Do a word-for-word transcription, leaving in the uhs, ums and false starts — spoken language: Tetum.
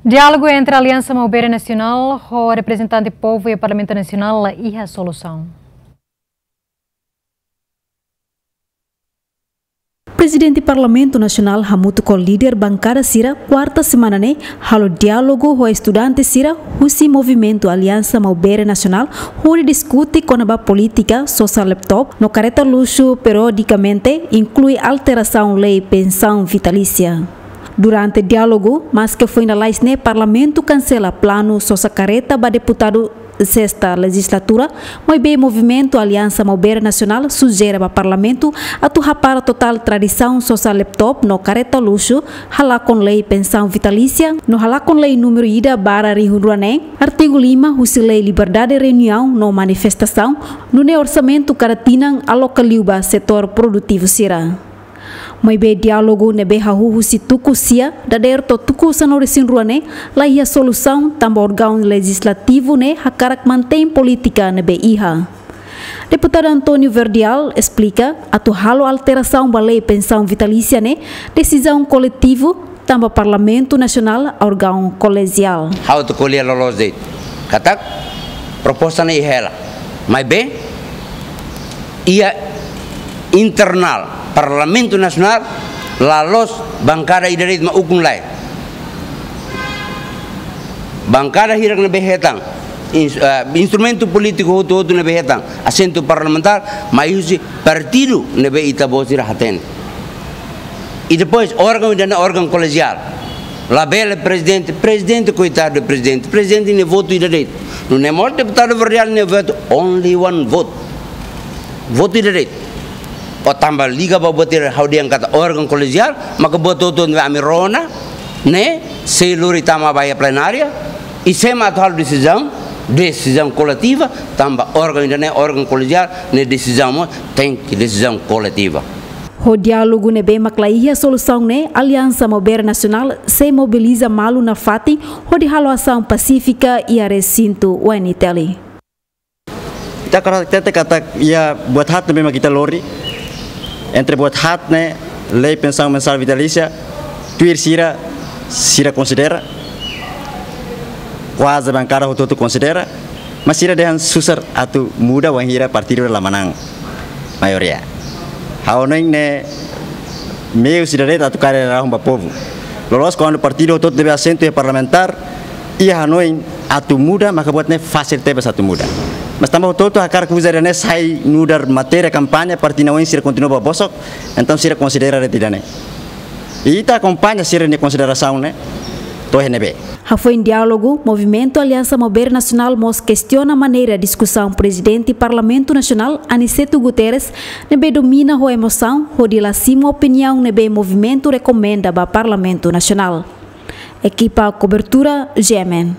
Diálogu entre Aliansa Maubere Nasionál ho reprezentante povu iha Parlamentu Nasionál la iha solusaun. Prezidente Parlamentu Nasionál hamutuk ho líder bankada sira kuarta semana ne'e halo diálogu ho estudante sira husi Movimentu Aliansa Maubere Nasionál hodi diskute kona-ba polítika sosa laptop no kareta luxu periodikamente, inklui alterasaun lei pensaun vitalísia. Durante diálogu, maske foin lalais ne'e Parlamentu kansela planu sosa kareta ba deputadu sesta lejizlatura, maibé Movimentu Aliansa Maubere Nasionál sujere ba Parlamentu atu hapara totál tradisaun sosa laptop no kareta luxu, halakon lei pensaun vitalísia no halakon lei númeru ida barra rihun rua neen, artigu lima husi lei liberdade reuniaun no manifestasaun, nune'e orsamentu kada tinan aloka liu ba setór produtivu sira. Maibé diálogu ne'ebé hahú husi tuku sia dadeer to'o tuku sanulu-resin-rua ne'e la iha solusaun tanba órgaun lejizlativu ne'e hakarak mantein polítika ne'ebé iha. Deputadu António Verdial esplika atu halo alterasaun ba lei pensaun vitalísia ne'e desizaun koletivu tanba Parlamentu Nasionál órgaun kolegiál. Ha'u atu ko'alia loloos de'it katak proposta ne'e iha hela. Maibé iha internál Parlamentu Nasionál la loos bankada ida de'it mak ukun lai. Bankada hirak ne'ebé hetan ins-, eh, instrumentu polítiku hotu-hotu ne'ebé hetan asentu parlamentár mai husi partidu ne'ebé ita-boot sira hatene. I depois órgaun ida-ne'e órgaun kolegiál. Labele prezidente, prezidente, koitadu de prezidente. Prezidente nia votu ida de'it. Nune'e mós deputadu Verdial nia votu only one vote. Votu ida de'it. Ó tanba liga ba buat ida ha'u dehan katak órgaun kolegiál, maka buat hotu-hotu ami rona, ne'e sei lori tama ba iha plenária, i sé mak atu halo desizaun, desizaun koletiva, tanba órgaun ida-ne'e órgaun kolegiál, ne'e desizaun mós tenke desizaun koletiva. Ho diálogu ne'ebé mak la iha solusaun ne'e, Aliansa Maubere Nasionál sei mobiliza malu nafatin hodi halo asaun pasífika iha resintu U N T L. Ita hakarak hatete katak iha buat haat ne'ebé mak ita lori, entre buat haat ne'e, lei pensaun mensál vitalísia, tuir sira, sira konsidera, kuaze bankada hotu-hotu konsidera, mas sira dehan susar atu muda wainhira partidu la manán maioria. Ha'u hanoin ne'e meiu ida de'it atu kaer rahun ba povu. Loloos kuandu partidu hotu-hotu ne'ebé asentu iha parlamentár, iha hanoin atu muda, maka buat ne'e fasil tebes atu muda. Mas tanba hotu-hotu hakarak uza ida-ne'e sai nu'udar matéria kampaña, partidu oin sira kontinua ba bosok, entaun sira konsidera de'it ida-ne'e. I ita akompaña sira-nia konsiderasaun ne'e, to'o iha ne'ebé. Hafoin diálogu, Movimentu Aliansa Maubere Nasionál mós kestiona maneira diskusaun Prezidente Parlamentu Nasionál, Aniceto Guterres, ne'ebé domina ho emosaun, hodi la simu opiniaun ne'ebé movimentu rekomenda ba Parlamentu Nasionál. Ekipa kobertura, G M N.